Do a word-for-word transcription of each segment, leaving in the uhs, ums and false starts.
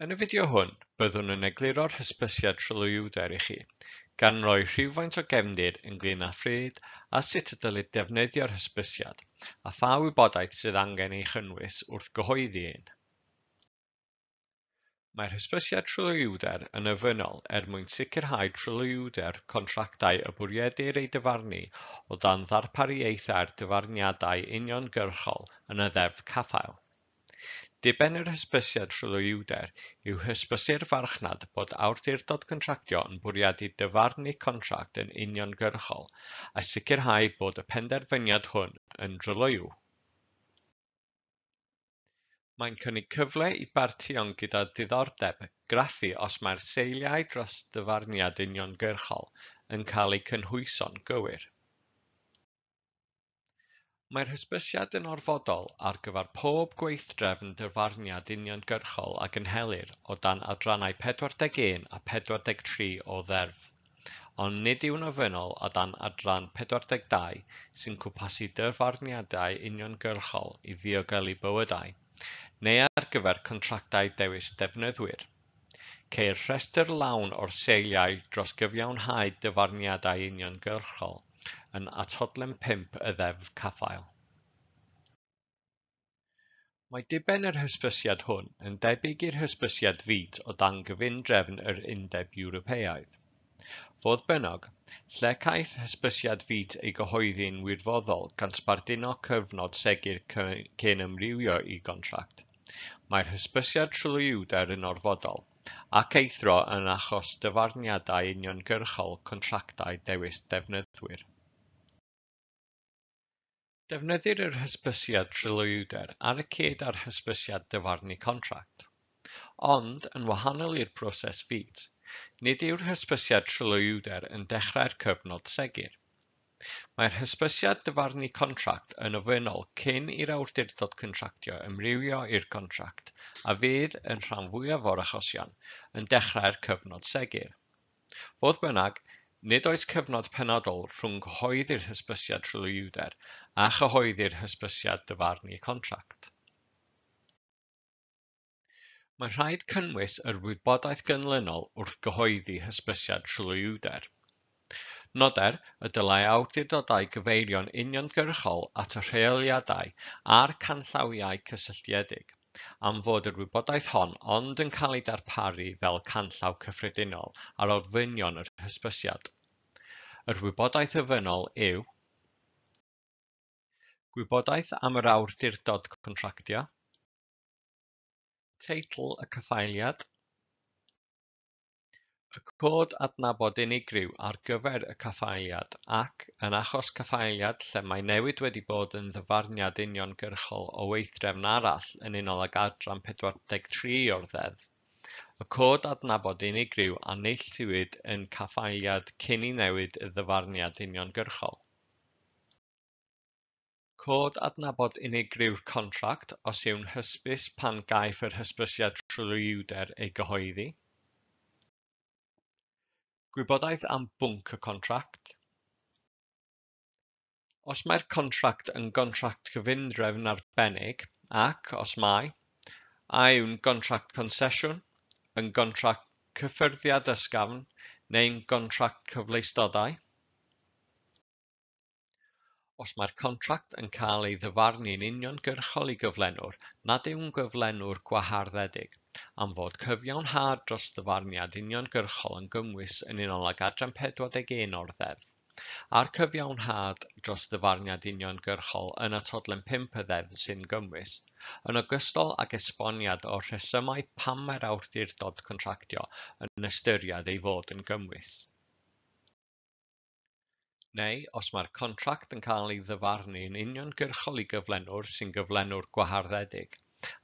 Yn y fideo hwn, byddwn yn egluro'r hysbysiad tryloywder i chi, gan roi rhywfaint o gefndir ynglŷn â phryd a sut y dylid defnyddio'r hysbysiad, a pha wybodaeth sydd angen ei chynnwys wrth gyhoeddi un. Mae'r hysbysiad tryloywder yn ofynnol er mwyn sicrhau tryloywder contractau y bwriedir eu dyfarnu o dan ddarpariaethau'r dyfarniadau uniongyrchol yn y Ddeddf Caffael. Diben yr hysbysiad tryloywder yw hysbysu'r farchnad bod awdurdod contractio yn bwriadu dyfarnu contract yn uniongyrchol a sicrhau bod y penderfyniad hwn yn dryloyw. Mae'n cynnig cyfle i bartïon gyda diddordeb graffu os mae'r seiliau dros ddyfarniad uniongyrchol yn cael eu cynhwyso'n gywir. Mae'r hysbysiad yn orfodol ar gyfer pob gweithdrefn dyfarniad uniongyrchol a gynhelir o dan adrannau pedwar deg un a pedwar deg tri o Ddeddf, ond nid yw'n ofynnol o dan adran pedwar deg dau sy'n cwmpasu dyfarniadau uniongyrchol i ddiogelu bywydau, neu ar gyfer contractau dewis defnyddwyr. Ceir rhestr lawn o'r seiliau dros gyfiawnhau dyfarniadau uniongyrchol yn Atodlen pump y Ddeddf Caffael. Mae diben yr hysbysiad hwn yn debyg i'r hysbysiad F I T o dan gyfundrefn yr Undeb Ewropeaidd. Fodd bynnag, lle caiff hysbysiad F I T ei gyhoeddi'n wirfoddol gan sbarduno cyfnod segur cyn amrywio i gontract, mae'r hysbysiad tryloywder yn orfodol, ac eithrio yn achos dyfarniadau uniongyrchol contractau dewis defnyddwyr. Defnyddir yr hysbysiad tryloywder ar y cyd â'r hysbysiad dyfarnu contract. Ond, yn wahanol i'r broses F I T, nid yw'r hysbysiad tryloywder yn dechrau'r cyfnod segur. Mae'r hysbysiad dyfarnu contract yn ofynnol cyn i'r awdurdod contractio amrywio i'r contract a fydd, yn rhan fwyaf o'r achosion, yn dechrau'r cyfnod segur. Fodd bynnag, nid oes cyfnod penodol rhwng cyhoeddi'r hysbysiad tryloywder a chyhoeddi'r hysbysiad dyfarnu contract. Mae'n rhaid cynnwys yr wybodaeth ganlynol wrth gyhoeddi hysbysiad tryloywder. Noder y dylai awdurdodau gyfeirio'n uniongyrchol at y rheoliadau a'r canllawiau cysylltiedig, am fod yr wybodaeth hon ond yn cael ei darparu fel canllaw cyffredinol ar ofynion yr hysbysiad. Yr wybodaeth ofynnol yw gwybodaeth am yr awdurdod contractio, teitl y caffaeliad, y cod adnabod unigryw ar gyfer y caffaeliad ac, yn achos caffaeliad lle mae newid wedi bod yn ddyfarniad uniongyrchol o weithdrefn arall yn unol ag adran pedwar deg tri o'r Ddeddf, y cod adnabod unigryw a neilltuwyd yn caffaeliad cyn i newid y ddyfarniad uniongyrchol. Cod adnabod unigryw'r contract os yw'n hysbys pan gaiff yr hysbysiad tryloywder ei gyhoeddi. Gwybodaeth am bwnc y contract. Os mae'r contract yn gontract cyfundrefn arbennig ac, os mai, a yw'n gontract consesiwn, yn gontract cyffyrddiad ysgafn neu'n gontract cyfleustodau. Os mae'r contract yn cael ei ddyfarnu'n uniongyrchol i gyflenwr nad yw'n gyflenwr gwaharddedig, am fod cyfiawnhad dros ddyfarniad uniongyrchol yn gymwys yn unol ag adran pedwar deg un o'r Ddeddf, a'r cyfiawnhad dros ddyfarniad uniongyrchol yn Atodlen pump y Ddeddf sy'n gymwys, yn ogystal ag esboniad o'r rhesymau pam mae'r awdurdod contractio yn ystyried ei fod yn gymwys. Neu, os mae'r contract yn cael ei ddyfarnu'n uniongyrchol i gyflenwr sy'n gyflenwr gwaharddedig,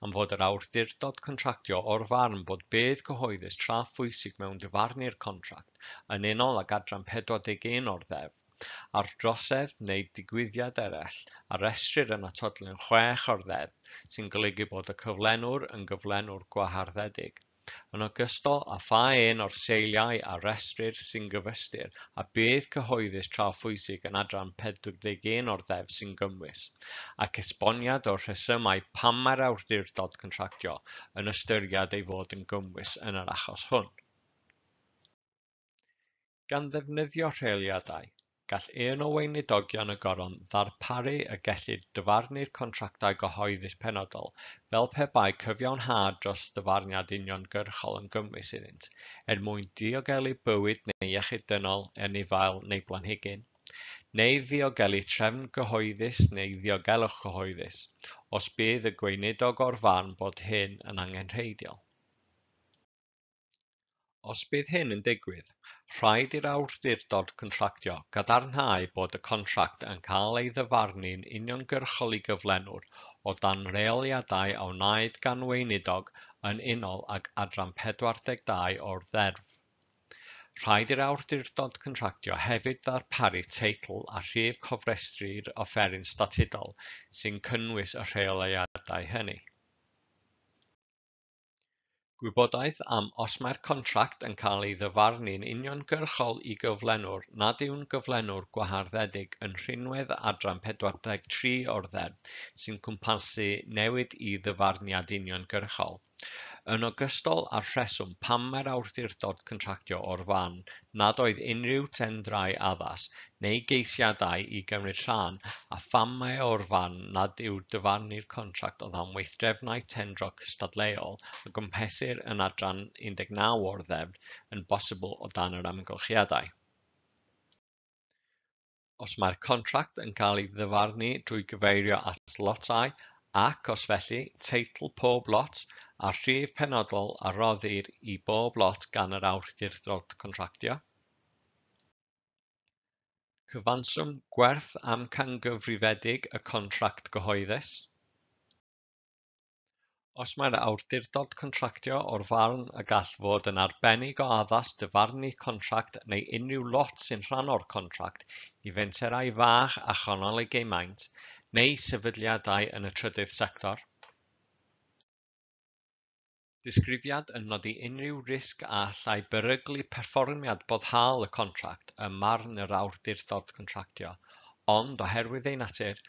am fod yr awdurdod contractio o'r farn bod budd cyhoeddus tra phwysig mewn dyfarnu'r contract yn unol ag adran pedwar deg un o'r Ddeddf, a'r drosedd neu digwyddiad eraill a restrir yn Atodlen chwech o'r Ddeddf sy'n golygu bod y cyflenwr yn gyflenwr gwaharddedig, yn ogystal â pha un o'r seiliau a restrir sy'n gyfystyr â budd cyhoeddus tra phwysig yn adran pedwar deg un o'r Ddeddf sy'n gymwys, ac esboniad o'r rhesymau pam mae'r awdurdod contractio yn ystyried ei fod yn gymwys yn yr achos hwn. Gan ddefnyddio rheoliadau, gall un o weinidogion y goron ddarparu y gellid dyfarnu'r contractau cyhoeddus penodol fel pe bai cyfiawnhad dros ddyfarniad uniongyrchol yn gymwys iddynt, er mwyn diogelu bywyd neu iechyd dynol, anifail neu blanhigyn, neu ddiogelu trefn gyhoeddus neu ddiogelwch cyhoeddus, os bydd y gweinidog o'r farn bod hyn yn angenrheidiol. Os bydd hyn yn digwydd, rhaid i'r awdurdod contractio gadarnhau bod y contract yn cael ei ddyfarnu'n uniongyrchol i gyflenwr o dan reoliadau a wnaed gan weinidog yn unol ag adran pedwar deg dau o'r Ddeddf. Rhaid i'r awdurdod contractio hefyd ddarparu teitl a rhif cofrestru'r offeryn statudol sy'n cynnwys y rheoliadau hynny. Gwybodaeth am os mae'r contract yn cael ei ddyfarnu'n uniongyrchol i gyflenwr nad yw'n gyflenwr gwaharddedig yn rhinwedd adran pedwar deg tri o'r Ddeddf sy'n cwmpasu newid i ddyfarniad uniongyrchol, yn ogystal â'r rheswm pam mae'r awdurdod contractio o'r farn nad oedd unrhyw tendrau addas neu geisiadau i gymryd rhan a pham mae o'r farn nad yw dyfarnu'r contract o dan weithdrefnau tendro cystadleuol a gwmpesir yn adran un deg naw o'r Ddeddf yn bosibl o dan yr amgylchiadau. Os mae'r contract yn cael ei ddyfarnu drwy gyfeirio at lotau ac, os felly, teitl pob lot a'r rhif penodol a roddir i bob lot gan yr awdurdod contractio. Cyfanswm gwerth amcangyfrifedig y contract gyhoeddus. Os mae'r awdurdod contractio o'r farn y gall fod yn arbennig o addas dyfarnu contract neu unrhyw lot sy'n rhan o'r contract i fenterau fach a chanolig eu maint, neu sefydliadau yn y trydydd sector. Disgrifiad yn nodi unrhyw risg a allai beryglu perfformiad boddhaol y contract ym marn yr awdurdod contractio, ond oherwydd ei natur,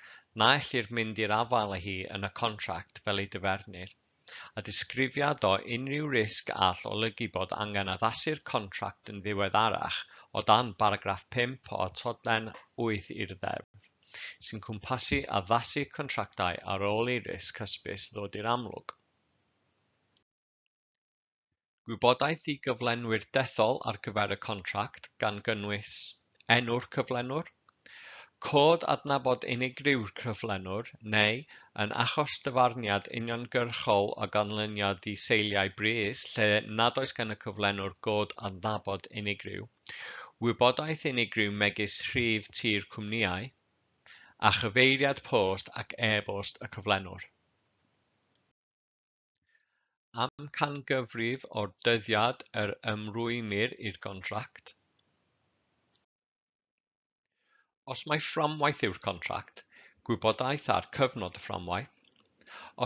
na ellir mynd i'r afael â hi yn y contract fel ei dyfernir, a disgrifiad o unrhyw risg all olygu bod angen addasu'r contract yn ddiweddarach o dan baragraff pump o atodlen wyth i'r Ddeddf, sy'n cwmpasu addasu contractau ar ôl i risg hysbys ddod i'r amlwg. Gwybodaeth i gyflenwyr dethol ar gyfer y contract gan gynnwys enw'r cyflenwr, cod adnabod unigryw'r cyflenwr neu, yn achos dyfarniad uniongyrchol o ganlyniad i seiliau brys lle nad oes gan y cyflenwr god adnabod unigryw, wybodaeth unigryw megis rhif tir cwmnïau, a chyfeiriad post ac e-bost y cyflenwr. Amcangyfrif o'r dyddiad yr ymrwymir i'r contract. Os mai fframwaith yw'r contract, gwybodaeth ar cyfnod y fframwaith.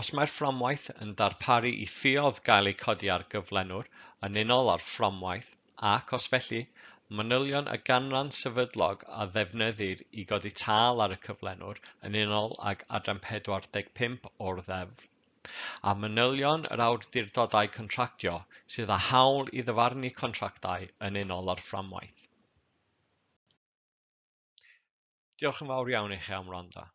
Os mae'r fframwaith yn darparu i ffioedd gael eu codi ar gyflenwr yn unol â'r fframwaith ac, os felly, manylion y ganran sefydlog a ddefnyddir i godi tâl ar y cyflenwr yn unol ag adran pedwar deg pump o'r Ddeddf, a manylion yr awdurdodau contractio sydd â hawl i ddyfarnu contractau yn unol â'r fframwaith. Diolch yn fawr iawn i chi am wrando.